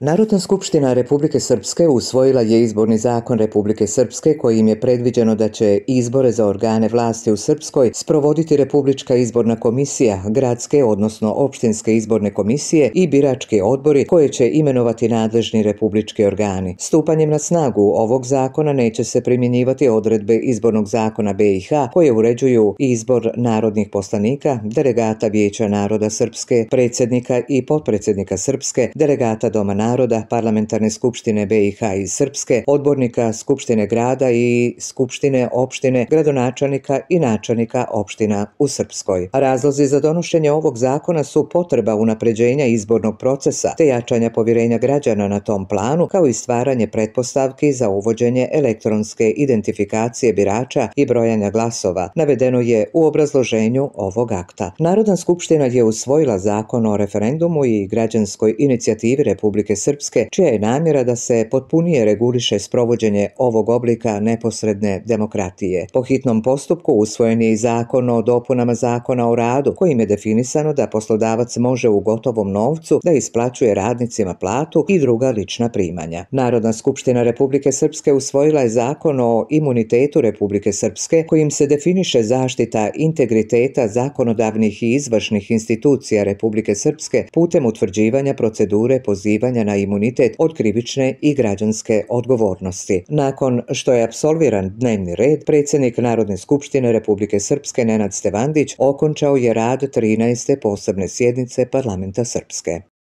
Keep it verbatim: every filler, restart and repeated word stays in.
Narodna skupština Republike Srpske usvojila je izborni zakon Republike Srpske kojim je predviđeno da će izbore za organe vlasti u Srpskoj sprovoditi Republička izborna komisija, gradske odnosno opštinske izborne komisije i birački odbori koje će imenovati nadležni republički organi. Stupanjem na snagu ovog zakona neće se primjenjivati odredbe izbornog zakona B i H koje uređuju izbor narodnih poslanika, delegata Vijeća naroda Srpske, predsjednika i potpredsjednika Srpske, delegata Doma naroda, Parlamentarne skupštine B i H iz Srpske, odbornika Skupštine grada i Skupštine opštine, gradonačelnika i načelnika opština u Srpskoj. Razlozi za donošenje ovog zakona su potreba unapređenja izbornog procesa te jačanja povjerenja građana na tom planu, kao i stvaranje pretpostavki za uvođenje elektronske identifikacije birača i brojanja glasova, navedeno je u obrazloženju ovog akta. Narodna skupština je usvojila zakon o referendumu i građanskoj inicijativi Republike Srpske, čija je namjera da se potpunije reguliše sprovođenje ovog oblika neposredne demokratije. Po hitnom postupku usvojen je i zakon o dopunama zakona o radu, kojim je definisano da poslodavac može u gotovom novcu da isplaćuje radnicima platu i druga lična primanja. Narodna skupština Republike Srpske usvojila je zakon o imunitetu Republike Srpske, kojim se definiše zaštita integriteta zakonodavnih i izvršnih institucija Republike Srpske putem utvrđivanja procedure pozivanja na imunitet od krivične i građanske odgovornosti. Nakon što je apsolviran dnevni red, predsjednik Narodne skupštine Republike Srpske Nenad Stevandić okončao je rad trinaeste posebne sjednice Parlamenta Srpske.